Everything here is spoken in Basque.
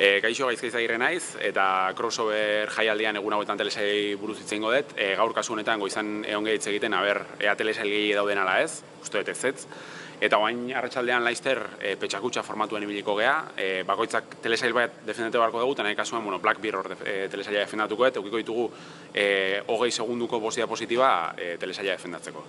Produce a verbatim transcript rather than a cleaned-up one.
E, Kaixo Gaizka Izagirre naiz, eta crossover jaialdian egun hauetan telesailei buruz hitz egingo dut. E, gaur kasu honetan goizan egon hitz egiten, aber, ea telesail gehi dauden ala ez, uste dut ez ez. Eta oain arratsaldean laizter e, petxakutxa formatuan ibiliko gea, e, bakoitzak telesail bat defendete beharko dugu, eta nahi kasuan, bueno, Black Mirror e, telesaila defendatuko dut, eukiko ditugu e, hogei segunduko bost diapositiba e, telesaila defendatzeko.